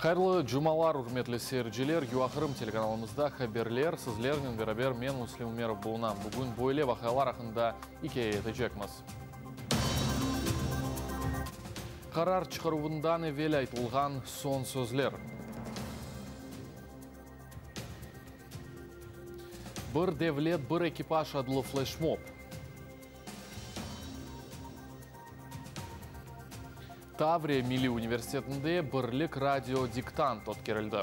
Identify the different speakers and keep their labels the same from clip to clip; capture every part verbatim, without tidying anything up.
Speaker 1: Hayırlı cumalar, ürmetli seyirciler. U A Krım telekanalımızda haberler. Sizlernen beraber men, Müslim Umerov, bulunam. Bugün böyle vaqialar aqqında ikâye etecekmiz. Qarar çıqaruvından evel aytılğan soñ sözler. Bir devlet, bir ekipaj adlı fleşmob. Tavriya Milliy Universitetinde Birlik radio diktant ötkerildi.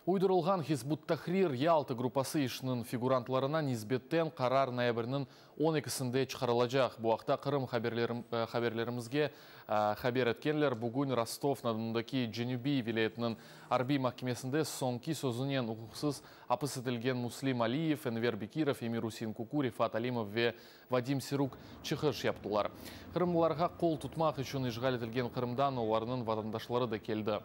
Speaker 1: Uydurılğan Hizb ut-Tahrir Yalta gruppası işiniñ figurantlarına nisbeten qarar noyabrniñ on ekisinde çıqarılacaq. Bu aqta Qırım haberlerimizge haber etkenler. Bugün Rostov-na-Donudaki Cenübiy vilâyetiniñ arbiy mahkemesinde soñki sözünen uquqsız apis etilgen Muslim Aliyev, Enver Bekirov, Emir-Usein Kuku, Refat Alimov ve Vadim Siruk çıqış yaptılar. Qırımlılarğa qol tutmaq içün işğal etilgen Qırımdan olarnıñ vatandaşları da keldi.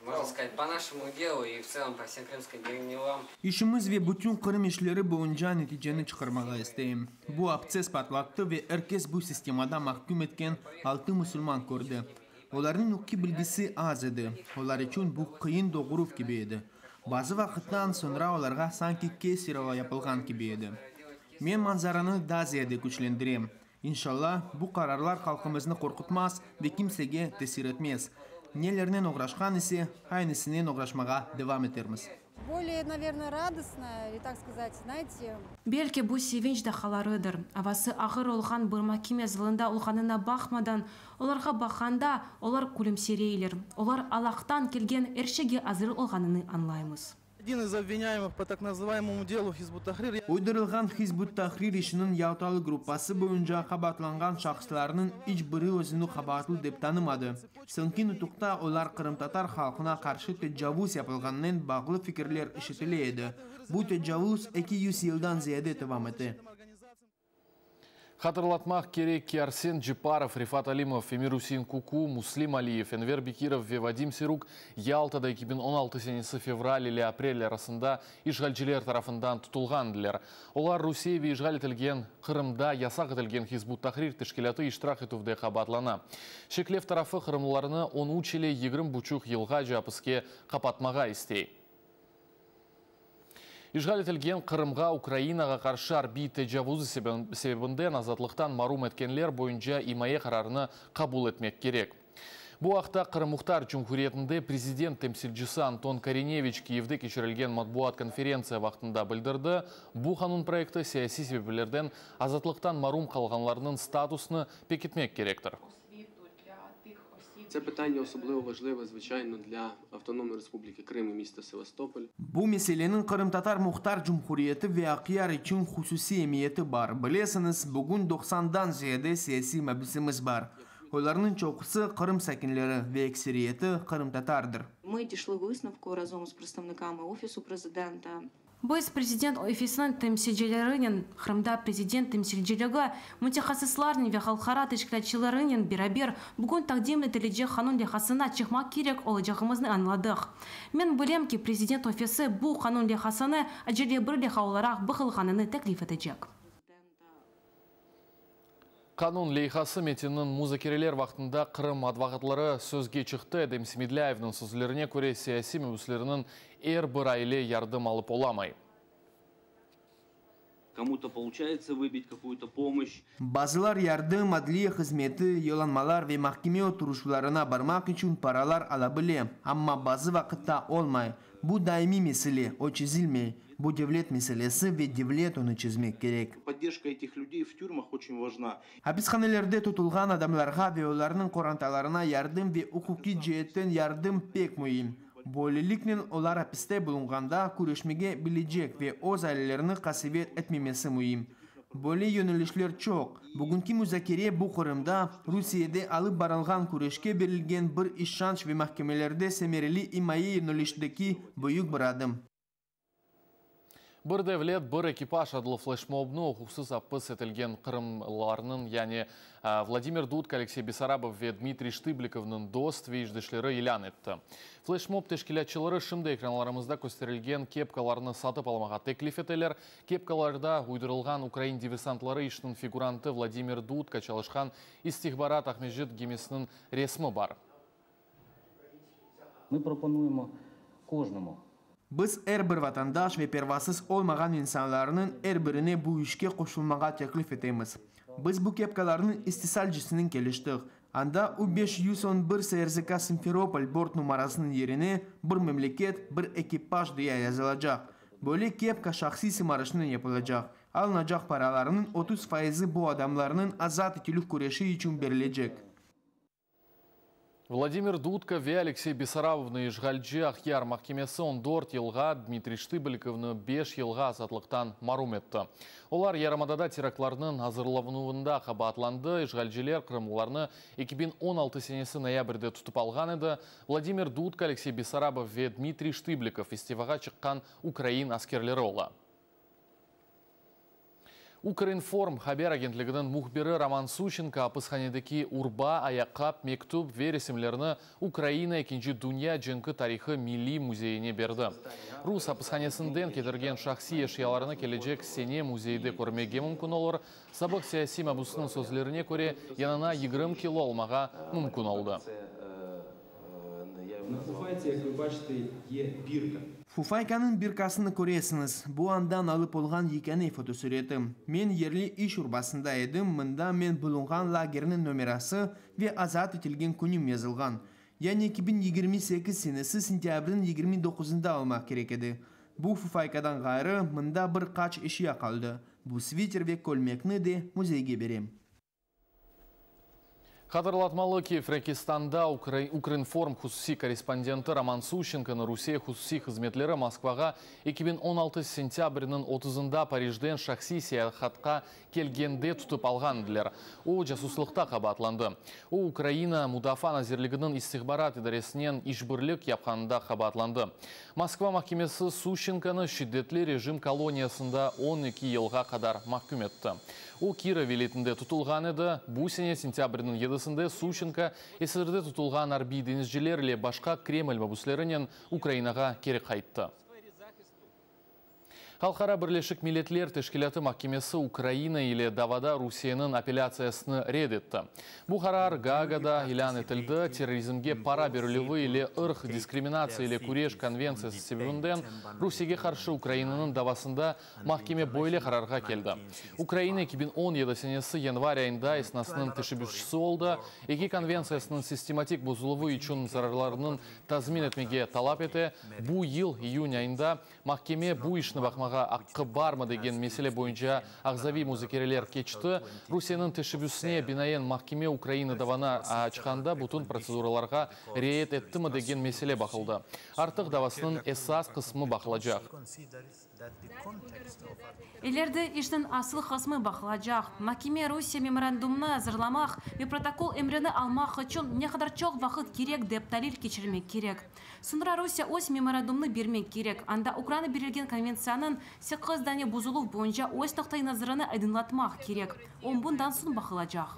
Speaker 2: Можно сказать, по нашему делу и в целом по всем крымским делам.
Speaker 3: İşimiz ve bütün Qırım işleri boyunca neticeni çıqarmağa isteyim. Bu abtsess patlattı ve er kes bu sistemada mahküm etken altı musulman kördi. Olarnıñ uquqiy bilgisi az edi. Olar içün bu qıyın doğuruv kibi edi. Bazı vaqıttan soñra olarğa sanki keserevo yapılğan kibi edi. Men manzaranı daa ziyade küçlendirem. İnşallah, bu qararlar halqımıznı qorqutmaz ve kimsege tesir etmez. Nelernen oğraşqan ise, aynısınen oğraşmağa devam etermiz.
Speaker 4: Более, наверное, радостно, или так сказать, знаете.
Speaker 5: Belki bu sevinç daqqalarıdır. Avası ağır olğan bir mahkeme zalında olğanına baqmadan, olarğa baqqanda, olar külümsireyler. Olar Allahtan kelgen er şeyge azır olğanını añlaymız.
Speaker 6: Один из обвиняемых по так называемому делу Хизб ут-Тахрир.
Speaker 3: Uydurılğan Hizb ut-Tahrir işiniñ Yaltalı gruppası boyunca qabaatlanğan şahıslarnıñ iç biri özüni qabaatlı dep tanımadı. Soñki nutuqta olar qırımtatar halqına qarşı tecavuz yapılğanınen bağlı fikirler işitile edi. Bu tecavuz eki yüz yıldan ziyade devam ete.
Speaker 1: Hatırlatmaq kerek ki, Arsen Ceparov, Refat Alimov, Emir-Usein Kuku, Muslim Aliyev, Enver Bekirov ve Vadim Siruk Yaltada eki biñ on altı senesi fevral ile aprel arasında işğalciler tarafından tutulğandılar. Olar Rusiye ve işğal etilgen Qırımda yasaq etilgen Hizb ut-Tahrir teşkilâtı iştirak etüvde qabaatlana. Şeklev tarafı qırımlılarnı on üç ile yigirmi buçuq yılğace apiske qapatmağa istey. İşğal etilgen Qırımğa Ukrainağa qarşı arbiy tecavuzı sebebinden azatlıqtan marum etkenler boyunca imaye qararını qabul etmek kerek. Bu aqta Qırım Muhtar Cumhuriyetinde prezident temsilcisi Anton Korineviç Kiyevde keçirilgen matbuat konferentsiya vaqtında bildirdi. Bu qanun proyekti siyasiy sebeplerden azatlıqtan marum qalğanlarnıñ statusını pekitmek kerektir.
Speaker 7: Це питання особливо важливе, звичайно, для Автономної Республіки Крим і міста Севастополь.
Speaker 3: Bu meseleniñ Qırımtatar Muhtar Cumhuriyeti ve Aqyar içün hususiy emiyeti bar. Bilesiñiz, bugün doqsandan ziyade siyasiy mabüsimiz bar. Olarnıñ çoqusı Qırım sakinleri ve ekseriyeti qırımtatardır.
Speaker 8: Ми дійшли висновку разом з представниками Офісу Президента.
Speaker 5: Biz prezident ofisiniñ temsilcilerinen, Qırımda prezident temsilciligi, mütehassıslarnen ve halqara teşkilâtçılarınen beraber bugün taqdim etilecek qanun leyhasına çıqmaq kerek olacağımıznı añladıq. Men bilem ki, prezident ofisi bu qanun leyhasını acele bir leyha olaraq baqılğanını teklif etecek.
Speaker 1: Qanun leyhası metininiñ muzakereler vaqtında Qırım advokatları sözge çıqtı. Edem Semedlâyevniñ sözlerine köre, siyasiy mabüsleriniñ er bir aile yardım alıp olamay.
Speaker 9: Кому-то получается выбить какую-то помощь.
Speaker 3: Bazılar yardım, adliye hızmeti, yollanmalar ve mahkeme oturışuvlarına barmaq içün paralar ala bile, amma bazı vaqıtta olmay. Bu daimiy mesele, o çezilmey. Bu devlet meselesi ve devlet onı çezmek kerek.
Speaker 6: Поддержка этих людей в тюрьмах очень важна.
Speaker 3: Apishanelerde tutulğan adamlarğa ve olarnıñ qorantalarına yardım ve uquqiy ceetten yardım pek müim. Böyleliknen olar apiste bulunğanda körüşmege bilecek ve öz ailelerini qasevet etmemesi müim. Böyle yönelişler çoq. Bugünki muzakere bu Qırımda, Rusiyede alıp barılğan küreşke berilgen bir işanç ve mahkemelerde semereli imaye yönelişindeki büyük bir adım.
Speaker 1: Bir devlet, bir ekipaj adlı fleşmobnı uquqsız apis etilgen qırımlılarnıñ, yani Vladimir Dudka, Aleksey Bessarabov ve Dmitriy Ştıblikovnıñ dost ve işdeşleri ilân etti. Fleşmob teşkilâtçıları şimdi ekranlarımızda kösterilgen kepkalarnı satıp almağa teklif eteler. Kepkalarda uydurılğan ukrain diversantları işiniñ figurantı Vladimir Dudka çalışqan istihbarat Aqmescit gemisiniñ resmi bar.
Speaker 10: Ми пропонуємо кожному.
Speaker 3: Biz er bir vatandaş ve pervasız olmağan insanlarnıñ er birine bu işke qoşulmağa teklif etemiz. Biz bu kepkalarnıñ istisalcısınen keliştik. Anda U beş yüz on bir S R Z K Simferopol bort numarasınıñ yerine bir memleket, bir ekipaj diye yazılacaq. Böyle kepka şahsiy sımarışnen yapılacaq. Alınacaq paralarnıñ otuz faizi bu adamlarnıñ azat etilüv küreşi içün berilecek.
Speaker 1: Vladimir Dudka ve Aleksey Bessarabovnı işğalci Aqyar mahkemesi on dört yılğa, Dmitriy Ştıblikovnı beş yılğa azatlıqtan marum etti. Olar yarımadada teraktlarnıñ azırlanuvında qabaatlandı. İşğalciler qırımlılarnı eki biñ on altı senesi noyabrde tutıp alğan edi. Vladimir Dudka, Aleksey Bessarabov ve Dmitriy Ştıblikov istifağa çıqqan ukrain askerleri ola. Ukrinform haber agentliginiñ mühbiri Roman Suşenko apishanedeki urba, ayaqqap, mektüp ve resimlerini Ukraina ekinci Dünya cenki tarihı milliy müzeyine berdi. Rus apishanesinden ketirgen şahsiy eşyalarını kelecek sene müzeyde körmege mümkün olur. Sabıq siyasiy mabusınıñ sözlerine köre, yanına yigirmi kilo almağa mümkün oldı.
Speaker 7: На фуфайці, як ви бачите, є бірка.
Speaker 3: Fufaykanıñ birkasını köresiñiz. Bu andan alıp olğan yekâne fotosüreti. Men yerli iş urbasında edim, mında men bulunğan lagerniñ nomerası ve azat etilgen künüm yazılğan. Yani eki biñ yigirmi sekiz senesi sentâbrniñ yigirmi doquzında olmaq kerek edi. Bu fufaykadan ğayrı, mında bir qaç eşya qaldı. Bu sviter ve kölmekni de müzeyge berem.
Speaker 1: Hatırlatmalı ki, Frenkistanda Ukrinform hususiy korrespondenti Roman Suşenkonı Rusiye hususiy hızmetleri Moskvağa eki biñ on altı sentâbrniñ otuzında Parijden şahsiy seyahatqa kelgende tutıp alğan ediler. O, casuslıqta qabaatlandı. O, Ukraina Mudafaa Nazirliginiñ istihbarat idaresinen işbirlik yapqanında qabaatlandı. Moskva mahkemesi Suşenkonı şiddetli rejim koloniyasında on eki yılğa qadar mahküm etti. O, Kirov vilâyetinde tutulğan edi. Bu sene sentâbrniñ yedisinde Suşenko esirde tutulğan arbiy deñizciler ile başqa Kreml mabüslerinen Ukrainağa keri qayttı. Halqara Birleşik Milletler Teşkilâtı mahkemesi Ukraina ile davada Rusiyeniñ apellâtsiyasını red etti. Bu qarar Gaagada ilân etildi. Terrorizmge para berilüvi ile ırq diskriminatsiya ile küreş konventsiyası sebebinden Rusiyege qarşı Ukrainanıñ davasında mahkeme böyle qararğa keldi. Ukraina eki biñ on yedi senesi yanvar ayında esnasnıñ teşebbüsçisi oldı. Eki konventsiyasınıñ sistematik bozuluvı içün zararlarnıñ tazmin etmege talap ete. Bu yıl iyün ayında mahkeme bu işni baqmağa aqqı barmı degen mesele boyunca ağzaviy muzakereler keçti. Rusiyeniñ teşebbüsine binaen mahkeme Ukraina davanı açqanda bütün protseduralarğa riayet ettimi degen mesele baqıldı. Artıq davasınıñ esas qısmı baqılacaq.
Speaker 5: İleride işniñ asıl qısmı baqılacaq. Mahkeme Rusiye memorandumını azırlamaq ve protokol emrini almaq içün ne qadar çoq vaqıt kerek dep talil keçirmek kerek. Soñra Rusiye öz memorandumını bermek kerek. Anda Ukraina berilgen konventsiyanıñ sekiz dane bozuluv boyunca öz noqta-i nazarını aydınlatmaq kerek. O bundan soñ baqılacaq.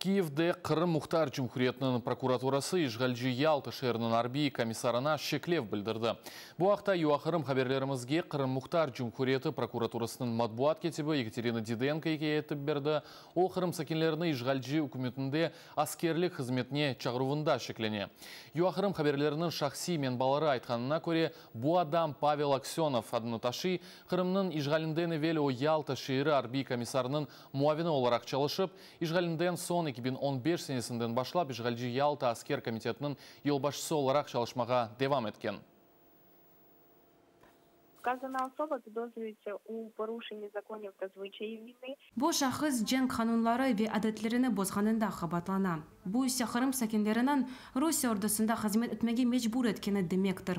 Speaker 1: Kiyevde Qırım Muhtar Cumhuriyetiniñ prokuraturası işğalci Yalta şeeriniñ arbiy komissarına şeklev bildirdi. Bu aqta U A Qırım haberlerimizge Qırım Muhtar Cumhuriyeti prokuraturasınıñ matbuat katibi Yekaterina Didenko ikâye etip berdi. O, Qırım sakinlerini işğalci ükümetinde askerlik hızmetine çağıruvında şeklene. U A Qırım haberleriniñ şahsiy menbaları aytqanına köre, bu adam Pavel Aksenov adını taşıy. Qırımnıñ işğalinden evel o Yalta şeeri arbiy komissarınıñ muavini olaraq çalışıp, işğalinden soñ eki biñ on beş senesinden başlap işğalci Yalta asker komitetiniñ yolbaşçısı olaraq çalışmağa devam etken.
Speaker 11: Вказана особа підозрюється у порушенні законів та звичаїв війни.
Speaker 5: Bu şahıs cenk qanunları ve adetlerini bozğanında qabaatlana. Bu ise Qırım sakinleriniñ Rusiye ordusında hızmet etmege mecbur etkeni demektir.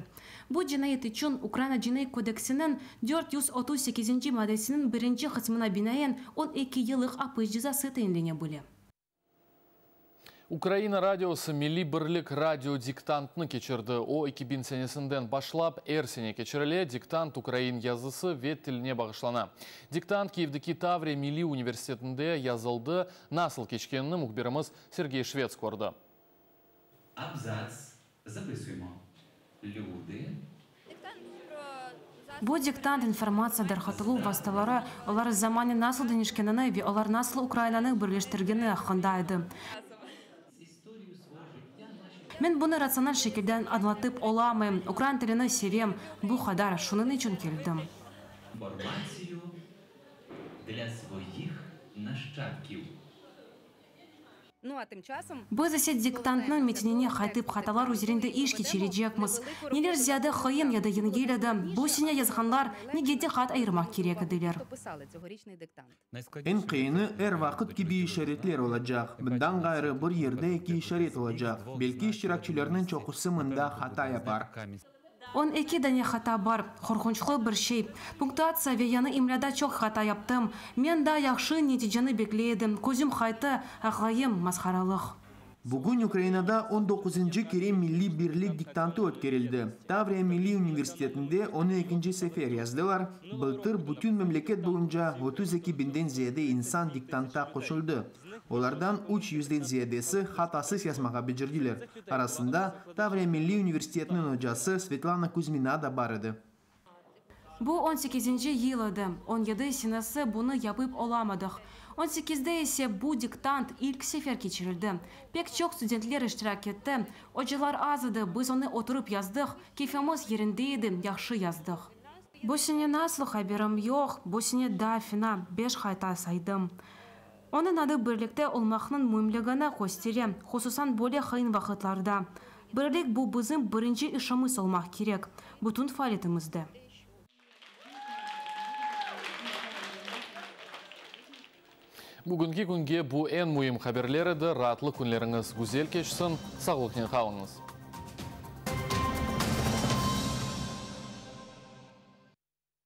Speaker 5: Bu cinayet içün Ukraina Cinaiy kodeksiniñ dört yüz otuz sekizinci maddesiniñ birinci qısmına binaen on eki yıllıq apis cezası tayinlene bile.
Speaker 1: Ukraina radiosı Milliy birlik radio diktantnı keçirdi. O, eki biñ senesinden başlap er sene keçirile. Diktant ukrain yazısı ve tiline bağışlana. Diktant Kiyevdeki Tavriya Milliy universitetinde yazıldı. Nasıl keçkenini mühbirimiz Sergey Şvets kördi.
Speaker 12: Абзац. Записуємо. Люди.
Speaker 5: Bu diktant informatsiya tarqatıluv vastaları, olar zamannen nasıl deñişkenini ve olar nasıl Ukrainanı birleştirgeni aqqında edi. Men bunı ratsional şekilde añlatıp olamayım. Ukrain tilini sevem, bu qadar, şunıñ içün keldim.
Speaker 12: Інформацію для своїх нащадків.
Speaker 5: Biz ise diktantnıñ metinine qaytıp, hatalar üzerinde iş keçirecekmiz. Neler ziyade qıyın ya da yengil edi, bu sene yazğanlar nege diqqat ayırmaq kerek ediler.
Speaker 3: Eñ qıyını er vaqıt kibi işaretler olacaq. Bundan ğayrı bir yerde eki işaret olacaq. Belki iştirakçilerniñ çoqusı mında hata yapar.
Speaker 5: On eki dane hata bar, qorqunçlı bir şey. Punktuatsiya ve yañı imlâda çoq hata yaptım. Men daa yahşı neticeni bekley edim. Közüm qayttı, ağlayım, masharalıq.
Speaker 3: Bugün Ukrainada on doquzıncı kere Milliy birlik diktantı ötkerildi. Tavriya Milliy universitetinde onı ekinci sefer yazdılar. Bıltır bütün memleket boyunca otuz eki biñden ziyade insan diktantqa qoşuldı. Olardan üç yüzden ziyadesi hatasız yazmağa becerdiler. Arasında Tavriya Milliy universitetiniñ ocası Svetlana Kuzmina da bar edi.
Speaker 5: Bu on sekizinci yıl edi. On yedi senesi bunı yapıp olamadıq. On sekizde ise bu diktant ilk sefer keçirildi. Pek çoq studentler iştirak etti. Ocalar az edi, biz onı oturıp yazdıq, keyfimiz yerinde edi, yahşı yazdıq. Bu sene nasıl haberim yoq, bu sene daa fena, beş hata saydım. Onıñ adı birlikte olmaqnıñ müimligini köstere, hususan böyle qıyın vaqıtlarda. Birlik bu bizim birinci işimiz olmaq kerek, bütün faaliyetimizde.
Speaker 1: Bugünki künge bu eñ müim haberler edi. Raatlı künleriñiz güzel keçsin. Sağlıqnen qalıñız.